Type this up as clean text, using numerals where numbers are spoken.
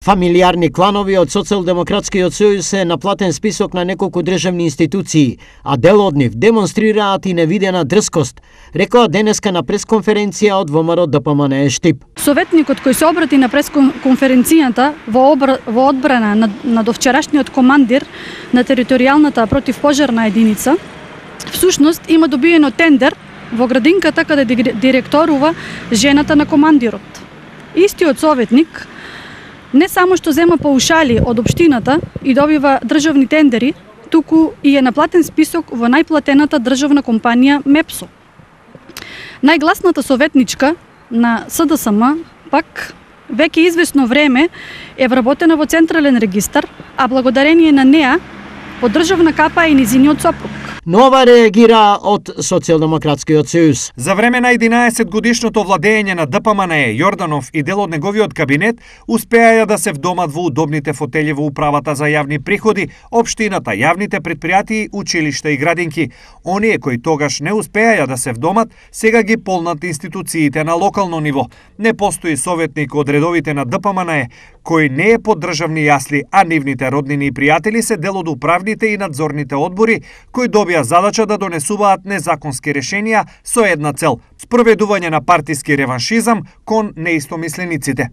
Фамилиарни кланови од Социјалдемократскиот сојуз се на платен список на неколку државни институции, а дел од нив демонстрираат и невидена дрскост, рекоа денеска на пресконференција од ВМРО ДПМН Штип. Советникот кој се обрати на пресконференцијата во одбрана на довчерашниот командир на територијалната противпожарна единица, всушност има добиено тендер во градинката каде директорува жената на командирот. Истиот советник не само што зема паушали од општината и добива државни тендери, туку и е на платен список во најплатената државна компанија МЕПСО. Најгласната советничка на СДСМ пак веќе извесно време е вработена во Централен регистар, а благодарение на неа по државна капа и низиниот сопруг. Нова реагира од Социјалдемократскиот сојуз. За време на 11-годишното владење на ДПМН, Јорданов и дел од неговиот кабинет успеаја да се вдомат во удобните фотели во управата за јавни приходи, општината, јавните предпријатии, училишта и градинки. Оние кои тогаш не успеаја да се вдомат, сега ги полнат институциите на локално ниво. Не постои советник од редовите на ДПМН кој не е под државни јасли, а нивните роднини и пријатели се дел од управните и надзорните одбори кои добија задача да донесуваат незаконски решенија со една цел – спроведување на партиски реваншизам кон неистомислениците.